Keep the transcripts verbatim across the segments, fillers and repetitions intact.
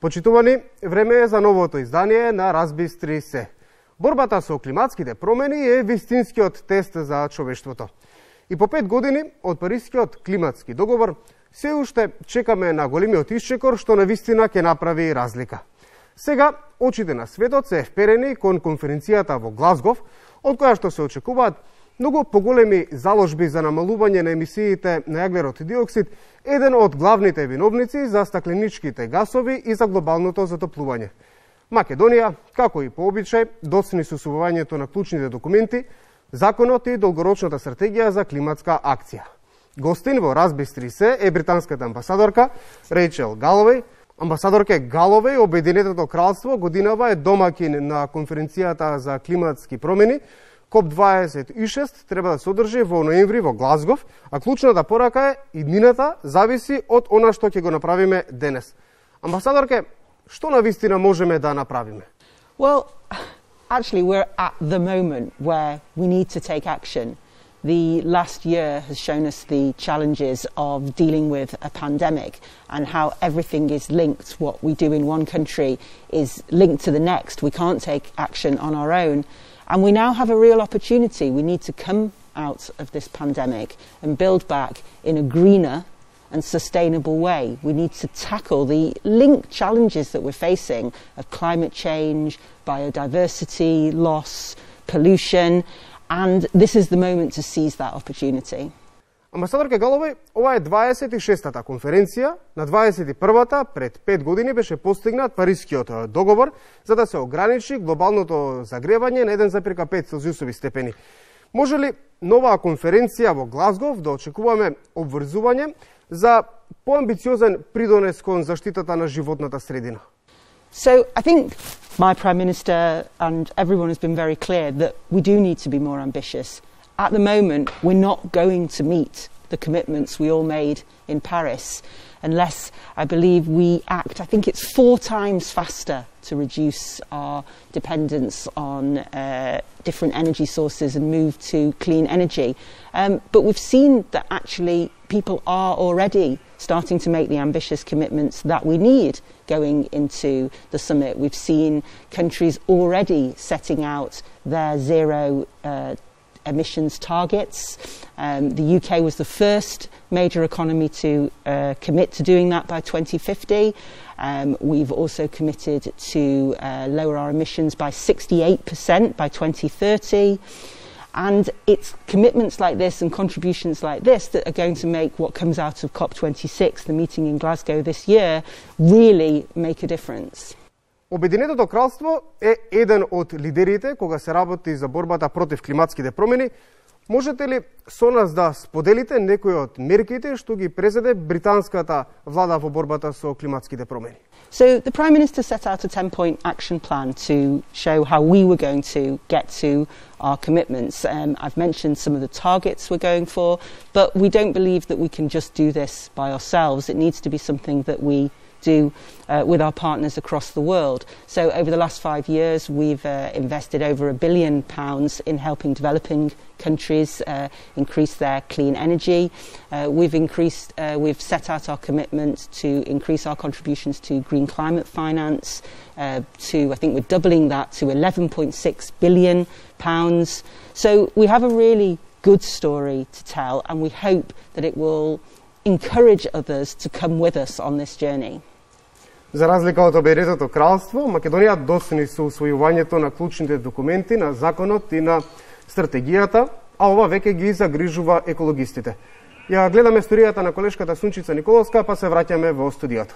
Почитувани, време е за новото издание на Разбистри се. Борбата со климатските промени е вистинскиот тест за човештвото. И по пет години од Парискиот климатски договор се уште чекаме на големиот исчекор што навистина ќе направи разлика. Сега очите на светот се вперени кон конференцијата во Глазгов, од која што се очекуваат многу поголеми заложби за намалување на емисиите на јаглерод диоксид, еден од главните виновници за стакленичките гасови и за глобалното затоплување. Македонија, како и по обичај, доцни со усвојувањето на клучните документи, законот и долгорочната стратегија за климатска акција. Гостин во Разбистри се е британската амбасадорка Рейчел Галовеј. Амбасадорке Галовеј, Обединетото кралство годинава е домакин на конференцијата за климатски промени. коп дваесет и шест треба да се одржи во ноември во Глазгов, а клучната порака е иднината зависи од она што ќе го направиме денес. Амбасадорке, што навистина можеме да направиме? Well, actually we're at the moment where we need to take action. The last year has shown us the challenges of dealing with a pandemic and how everything is linked. What we do in one country is linked to the next. We can't take action on our own. And we now have a real opportunity. We need to come out of this pandemic and build back in a greener and sustainable way. We need to tackle the linked challenges that we're facing of climate change, biodiversity loss, pollution, and this is the moment to seize that opportunity. Амбасадорке Галовеј, ова е дваесет и шестата конференција. На дваесет и првата, пред пет години, беше постигнат Парискиот договор за да се ограничи глобалното загревање на еден запирка пет целзиусови степени. Може ли новаа конференција во Глазгов да очекуваме обврзување за поамбициозен придонес кон заштитата на животната средина? So I think my Prime Minister and everyone has been very clear that we do need to be more ambitious. At the moment, we're not going to meet the commitments we all made in Paris unless, I believe, we act, I think it's four times faster to reduce our dependence on uh, different energy sources and move to clean energy. Um, but we've seen that actually people are already starting to make the ambitious commitments that we need going into the summit. We've seen countries already setting out their zero uh, emissions targets. Um, the U K was the first major economy to uh, commit to doing that by twenty fifty. Um, we've also committed to uh, lower our emissions by sixty-eight percent by twenty thirty. And it's commitments like this and contributions like this that are going to make what comes out of COP twenty-six, the meeting in Glasgow this year, really make a difference. Обединетото кралство е еден од лидерите кога се работи за борбата против климатските промени. Можете ли со нас да споделите некои од мерките што ги презеде британската влада во борбата со климатските промени? So the Prime Minister set out a ten-point action plan to show how we were going to get to our commitments. Um, I've mentioned some of the targets we're going for, but we don't believe that we can just do this by ourselves. It needs to be something that we do uh, with our partners across the world. So over the last five years we've uh, invested over a billion pounds in helping developing countries uh, increase their clean energy. Uh, we've increased, uh, we've set out our commitment to increase our contributions to green climate finance uh, to, I think we're doubling that to eleven point six billion pounds. So we have a really good story to tell and we hope that it will encourage others to come with us on this journey. За разлика од Обединетото кралство, Македонија доцни со усвојувањето на клучните документи, на законот и на стратегијата, а ова веќе ги загрижува екологистите. Ја гледаме историјата на колешката Сунчица Николовска, па се враќаме во студиото.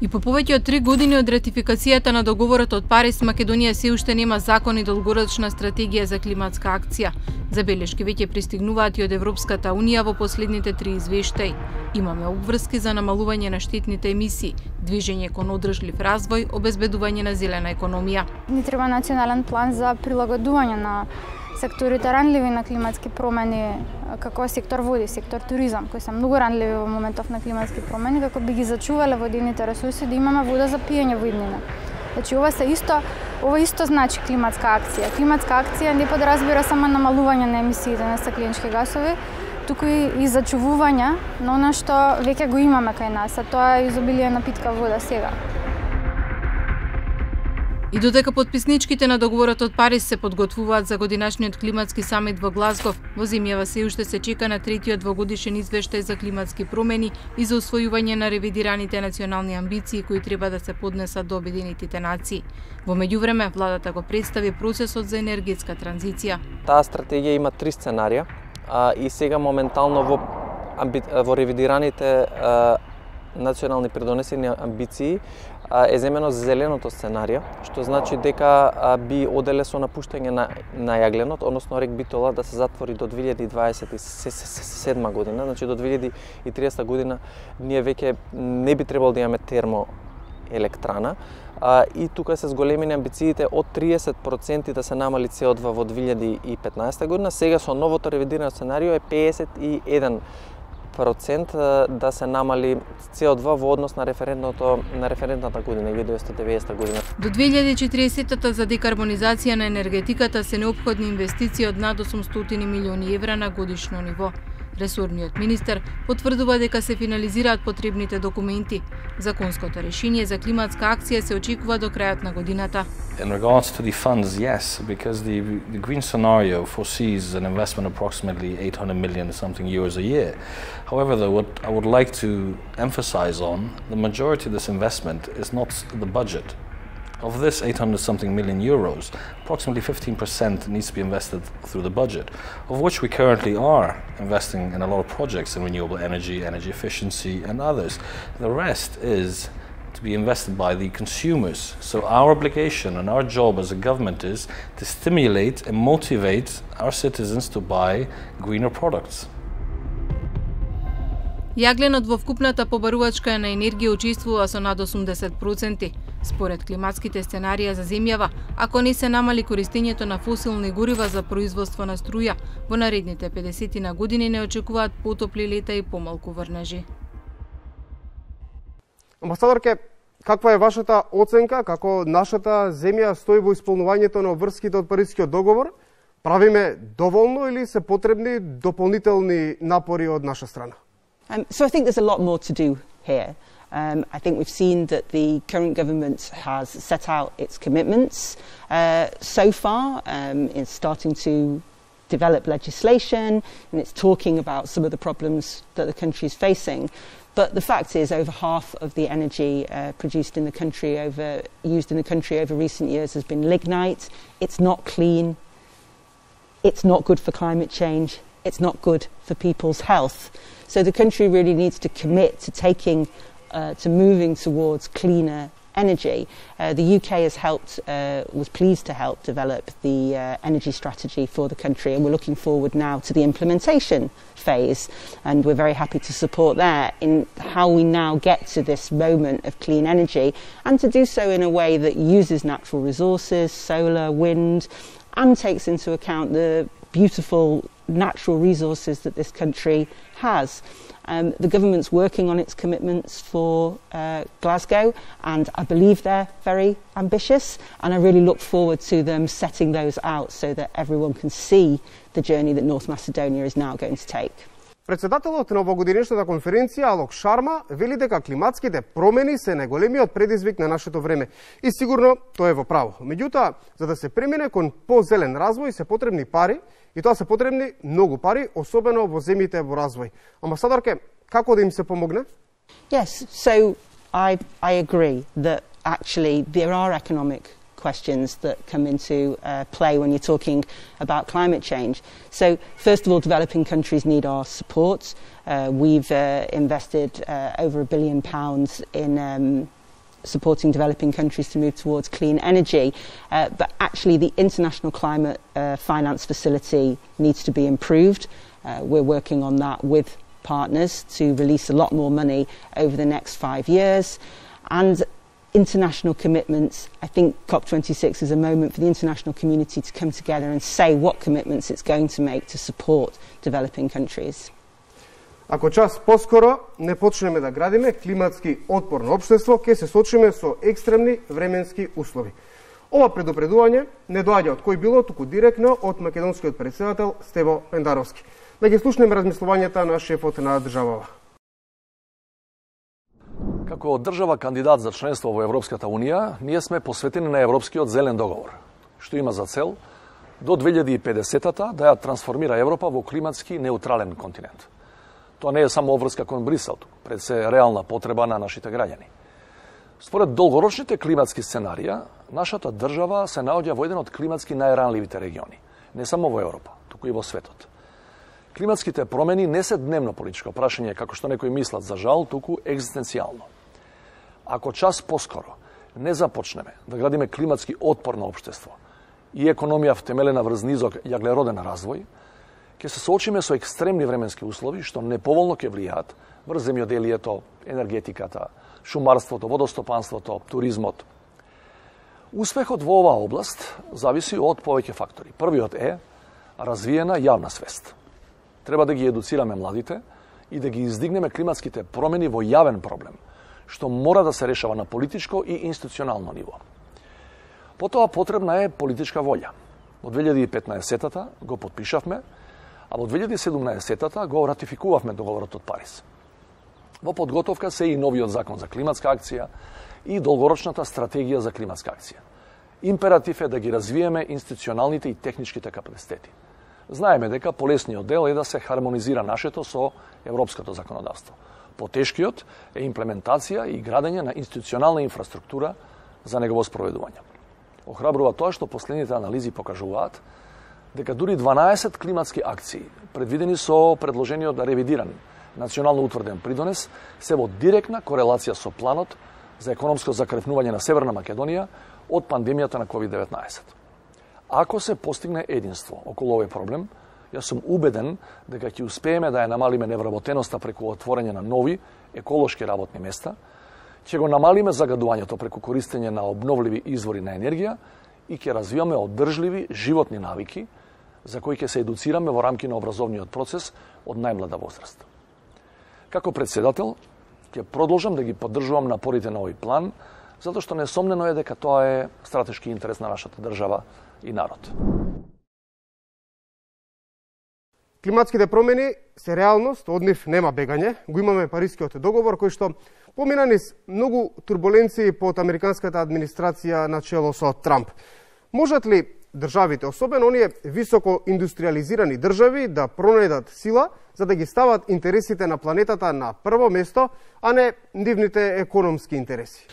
И по повеќе од три години од ратификацијата на договорот од Париз, Македонија се уште нема закон и долгорочна стратегија за климатска акција. Забелешки веќе пристигнуваат и од Европската унија во последните три извештаи. Имаме обврски за намалување на штетните емисии, движење кон одржлив развој, обезбедување на зелена економија. Ни треба национален план за прилагодување на секторите ранливи на климатски промени, како сектор води, сектор туризам, кои се многу ранливи во моментов на климатски промени, како би ги зачувале водените ресурси да имаме вода за пиење во иднина. Значи ова се исто, ова исто значи климатска акција. Климатска акција не подразбира само намалување на емисиите на стакленички гасови, туку и зачувување на она што веќе го имаме кај нас, а тоа е изобилие на питка вода сега. И додека потписничките на договорот од Париз се подготвуваат за годинашниот климатски самит во Глазгов, во земјава се уште се чека на третиот двогодишен извештај за климатски промени и за усвојување на ревидираните национални амбиции кои треба да се поднесат до Обединетите нации. Во меѓувреме, владата го представи процесот за енергетска транзиција. Таа стратегија има три сценарија а, и сега моментално во, амби... во ревидираните а, национални придонесени амбиции е земено зеленото сценарија, што значи дека би оделе со напуштање на, на јагленот, односно рек Битола да се затвори до две илјади дваесет и седма година, значи до две илјади и триесета година ние веќе не би требало да имаме термоелектрана. А, и тука се зголемени амбициите од триесет проценти да се намали С О два во две илјади и петнаесета година, сега со новото ревидирано сценарио е педесет и еден процент да се намали С О два во однос на референтното на референтната година илјада деветстотини и деветдесета година. До две илјади и четиридесетата за декарбонизација на енергетиката се неопходни инвестиции од над осумстотини милиони евра на годишно ниво. Ресорниот министер потврдува дека се финализираат потребните документи. Законското решение за климатска акција се очекува до крајот на годината. In regards to the funds, yes, because the, the green scenario foresees an investment of approximately eight hundred million something euros a year. However, though, what I would like to emphasize on, the majority of this investment is not the budget. Of this eight hundred something million euros, approximately fifteen percent needs to be invested through the budget, of which we currently are investing in a lot of projects in renewable energy, energy efficiency and others. The rest is to be invested by the consumers. So our obligation and our job as a government is to stimulate and motivate our citizens to buy greener products. Јагленот во вкупната побарувачка на енергија учествува со над осумдесет проценти. Според климатските сценарија за земјава, ако не се намали користењето на фосилни горива за производство на струја, во наредните педесетина години не очекуваат потопли лета и помалку врнежи. Амбасадорке, каква е вашата оценка како нашата земја стои во исполнувањето на обврските од Парискиот договор? Правиме доволно или се потребни дополнителни напори од наша страна? Um, so I think there's a lot more to do here. Um, I think we've seen that the current government has set out its commitments uh, so far. Um, it's starting to develop legislation and it's talking about some of the problems that the country is facing. But the fact is, over half of the energy uh, produced in the country, over used in the country over recent years, has been lignite. It's not clean. It's not good for climate change. It's not good for people's health. So the country really needs to commit to taking, uh, to moving towards cleaner energy. Uh, the U K has helped, uh, was pleased to help develop the uh, energy strategy for the country, and we're looking forward now to the implementation phase, and we're very happy to support that in how we now get to this moment of clean energy, and to do so in a way that uses natural resources, solar, wind, and takes into account the beautiful natural resources that this country has. Um, the government's working on its commitments for uh, Glasgow, and I believe they're very ambitious, and I really look forward to them setting those out so that everyone can see the journey that North Macedonia is now going to take. Председателот на овогодинешната конференција Алок Шарма вели дека климатските промени се најголемиот предизвик на нашето време. И сигурно тоа е во право. Меѓутоа, за да се премине кон позелен развој се потребни пари, и тоа се потребни многу пари, особено во земјите во развој. Амбасадорке, како да им се помогне? Yes, so I I agree that actually there are economic questions that come into uh, play when you're talking about climate change. So first of all, developing countries need our support. Uh, we've uh, invested uh, over a billion pounds in um, supporting developing countries to move towards clean energy. Uh, but actually the International Climate uh, Finance Facility needs to be improved. Uh, we're working on that with partners to release a lot more money over the next five years. And international commitments, I think COP twenty-six is a moment for the international community to come together and say what commitments it's going to make to support developing countries. Ако час поскоро не почнеме да градиме климатски отпорно општество, ќе се сочиме со екстремни временски услови. Ова предупредување не доаѓа од кој било, туку директно од македонскиот претседател Стево Пендаровски. Да ги слушнеме размислувањата на шефот на државава. Како држава кандидат за членство во Европската Унија, ние сме посветени на Европскиот зелен договор, што има за цел до две илјади и педесетата да ја трансформира Европа во климатски неутрален континент. Тоа не е само обврска кон Брисел, пред се реална потреба на нашите граѓани. Според долгорочните климатски сценарија, нашата држава се наоѓа во еден од климатски најранливите региони, не само во Европа, туку и во светот. Климатските промени не се дневно политичко прашање, како што некои мислат, за жал, туку екзистенцијално. Ако час поскоро не започнеме да градиме климатски отпорно општество и економија втемелена врз низок јаглероден развој, ќе се соочиме со екстремни временски услови што неповолно ќе влијаат врз земјоделието, енергетиката, шумарството, водостопанството, туризмот. Успехот во оваа област зависи од повеќе фактори. Првиот е развиена јавна свест. Треба да ги едуцираме младите и да ги издигнеме климатските промени во јавен проблем, што мора да се решава на политичко и институционално ниво. Потоа потребна е политичка волја. Во две илјади и петнаесетата го подпишавме, а во две илјади и седумнаесетата го ратификувавме договорот од Париз. Во подготовка се и новиот закон за климатска акција и долгорочната стратегија за климатска акција. Императив е да ги развиеме институционалните и техничките капацитети. Знаеме дека полесниот дел е да се хармонизира нашето со европското законодавство. Потешкиот е имплементација и градење на институционална инфраструктура за негово спроведување. Охрабрува тоа што последните анализи покажуваат дека дури дванаесет климатски акции, предвидени со предложениот да ревидиран национално утврден придонес, се во директна корелација со планот за економско закревнување на Северна Македонија од пандемијата на ковид деветнаесет. Ако се постигне единство околу овој проблем, јас сум убеден дека ќе успееме да ја намалиме невработеноста преку отворање на нови еколошки работни места, ќе го намалиме загадувањето преку користење на обновливи извори на енергија и ќе развиваме одржливи животни навики за кои ќе се едуцираме во рамки на образовниот процес од најмлада возраст. Како председател, ќе продолжам да ги поддржувам напорите на овој план, затоа што несомнено е дека тоа е стратешки интерес на нашата држава и народ. Климатските промени се реалност, од нив нема бегање. Го имаме Парискиот договор, кој што помина низ многу турбуленции под американската администрација на чело со Трамп. Можат ли државите, особено оние високо индустриализирани држави, да пронајдат сила за да ги стават интересите на планетата на прво место, а не нивните економски интереси?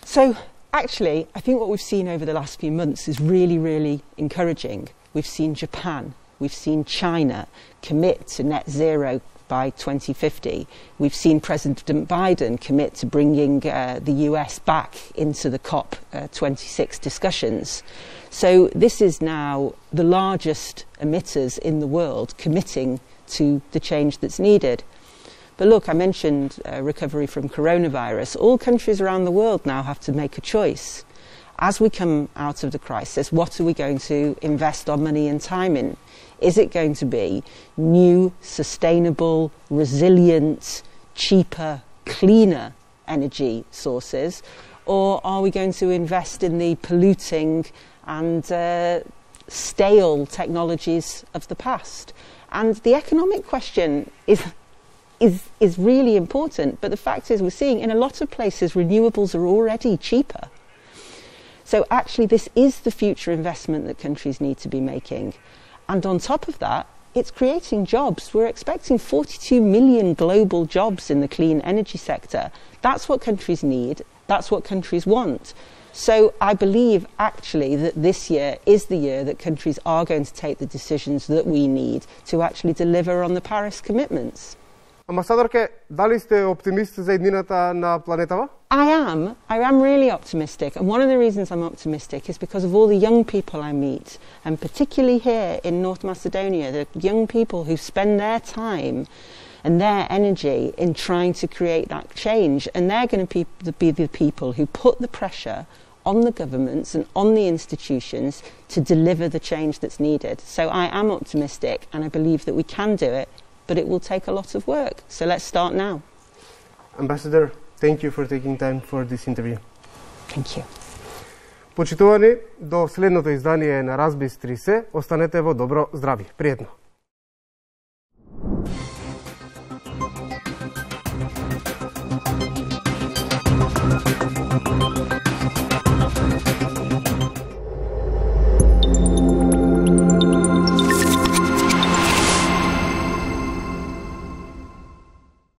So, actually, I think what we've seen over the last few months is really, really encouraging. We've seen Japan, we've seen China commit to net zero by twenty fifty. We've seen President Biden commit to bringing uh, the U S back into the COP twenty-six discussions. So this is now the largest emitters in the world committing to the change that's needed. But look, I mentioned uh, recovery from coronavirus. All countries around the world now have to make a choice. As we come out of the crisis, what are we going to invest our money and time in? Is it going to be new, sustainable, resilient, cheaper, cleaner energy sources? Or are we going to invest in the polluting and uh, stale technologies of the past? And the economic question is, is, is really important, but the fact is we're seeing in a lot of places renewables are already cheaper. So actually this is the future investment that countries need to be making. And on top of that, it's creating jobs. We're expecting forty-two million global jobs in the clean energy sector. That's what countries need. That's what countries want. So I believe actually that this year is the year that countries are going to take the decisions that we need to actually deliver on the Paris commitments. Амбасадорке, дали сте оптимист за иднината на планетава? I am. I am really optimistic. And one of the reasons I'm optimistic is because of all the young people I meet, and particularly here in North Macedonia, the young people who spend their time and their energy in trying to create that change. And they're going to be the people who put the pressure on the governments and on the institutions to deliver the change that's needed. So I am optimistic, and I believe that we can do it, but it will take a lot of work. So let's start now. Ambassador, thank you for taking time for this interview. Thank you. Почитувани, до следното издание на Разбис три се, останете во добро здравје. Пријатно!